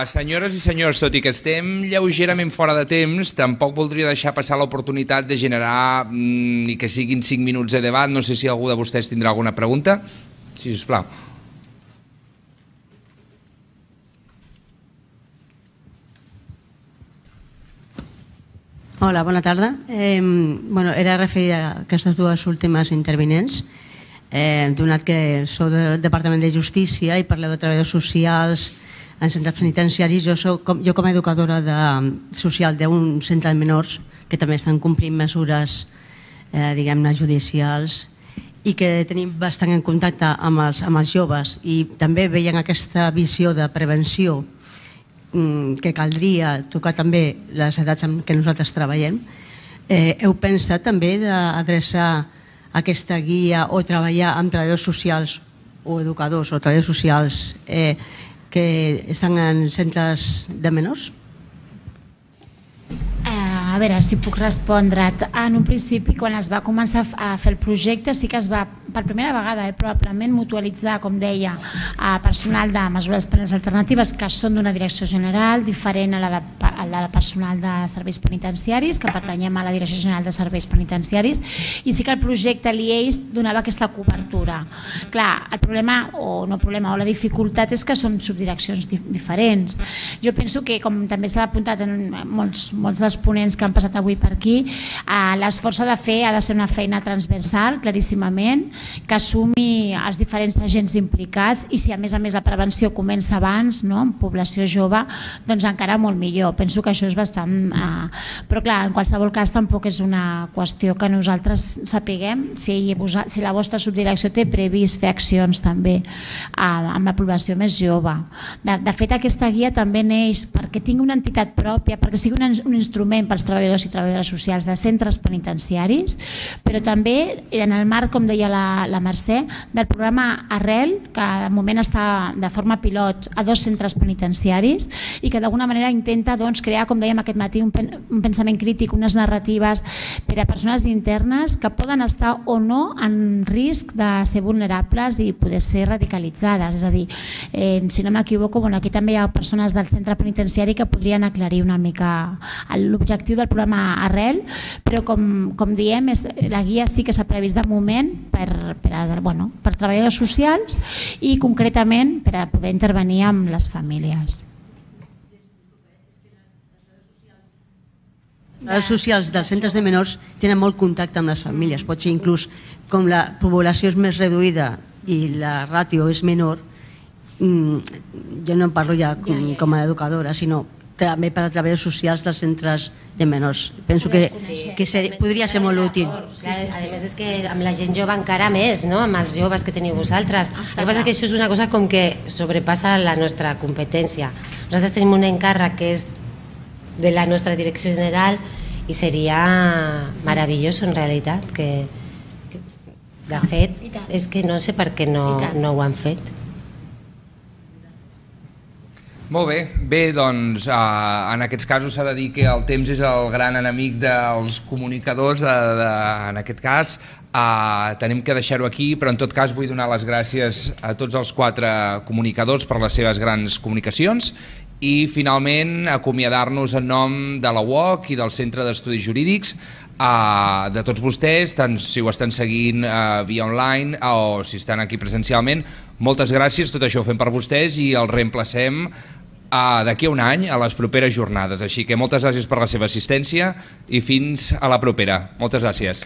Senyores i senyors, tot i que estem lleugerament fora de temps, tampoc voldria deixar passar l'oportunitat de generar ni que siguin 5 minuts de debat. No sé si algú de vostès tindrà alguna pregunta. Sí, sisplau. Hola, bona tarda. Era referida a aquestes dues últimes intervinents, donat que sou del Departament de Justícia i parleu de treballadors socials en centres penitenciaris. Jo com a educadora social d'un centre de menors que també estan complint mesures diguem-ne judicials i que tenim bastant en contacte amb els joves i també veient aquesta visió de prevenció que caldria tocar també les edats en què nosaltres treballem. Heu pensat també d'adreçar aquesta guia o treballar amb treballadors socials o educadors o treballadors socials que estan en centres de menors? A veure, si puc respondre't. En un principi, quan es va començar a fer el projecte, sí que es va, per primera vegada, probablement mutualitzar, com deia, personal de mesures penals alternatives que són d'una direcció general, diferent a la de personal de serveis penitenciaris, que pertanyem a la Direcció General de Serveis Penitenciaris, i sí que el projecte l'IEIS donava aquesta cobertura. Clar, el problema, o no problema, o la dificultat és que són subdireccions diferents. Jo penso que, com també s'ha apuntat en molts dels ponents que han passat avui per aquí, l'esforç ha de ser una feina transversal, claríssimament, que assumi els diferents agents implicats i si a més la prevenció comença abans, en població jove, doncs encara molt millor. Penso que això és bastant... Però clar, en qualsevol cas tampoc és una qüestió que nosaltres sapiguem si la vostra subdirecció té previst fer accions també amb la població més jove. De fet, aquesta guia també neix perquè tingui una entitat pròpia, perquè sigui un instrument pels treballadors i treballadores socials de centres penitenciaris, però també en el marc, com deia la Mercè, del programa Arrel, que de moment està de forma pilot a 2 centres penitenciaris i que d'alguna manera intenta crear, com dèiem aquest matí, un pensament crític, unes narratives per a persones internes que poden estar o no en risc de ser vulnerables i poder ser radicalitzades. És a dir, si no m'equivoco, aquí també hi ha persones del centre penitenciari que podrien aclarir una mica l'objectiu del programa Arrel, però com diem, la guia sí que s'ha previst de moment per treballadors socials i concretament per a poder intervenir amb les famílies. Els socials dels centres de menors tenen molt contacte amb les famílies. Pot ser inclús, com la població és més reduïda i la ràtio és menor, jo no parlo ja com a educadora, sinó també per a treballadors socials dels centres de menors. Penso que podria ser molt útil. A més és que amb la gent jove encara més, amb els joves que teniu vosaltres. El que passa és que això és una cosa com que sobrepassa la nostra competència. Nosaltres tenim un encàrrec que és de la nostra direcció general i seria meravellós en realitat. De fet, és que no sé per què no ho han fet. Molt bé, doncs en aquests casos s'ha de dir que el temps és el gran enemic dels comunicadors, en aquest cas tenim que deixar-ho aquí, però en tot cas vull donar les gràcies a tots els 4 comunicadors per les seves grans comunicacions i finalment acomiadar-nos en nom de la UOC i del Centre d'Estudis Jurídics, de tots vostès, tant si ho estan seguint via online o si estan aquí presencialment. Moltes gràcies, tot això ho fem per vostès i el reemplacem d'aquí a un any a les properes jornades. Així que moltes gràcies per la seva assistència i fins a la propera. Moltes gràcies.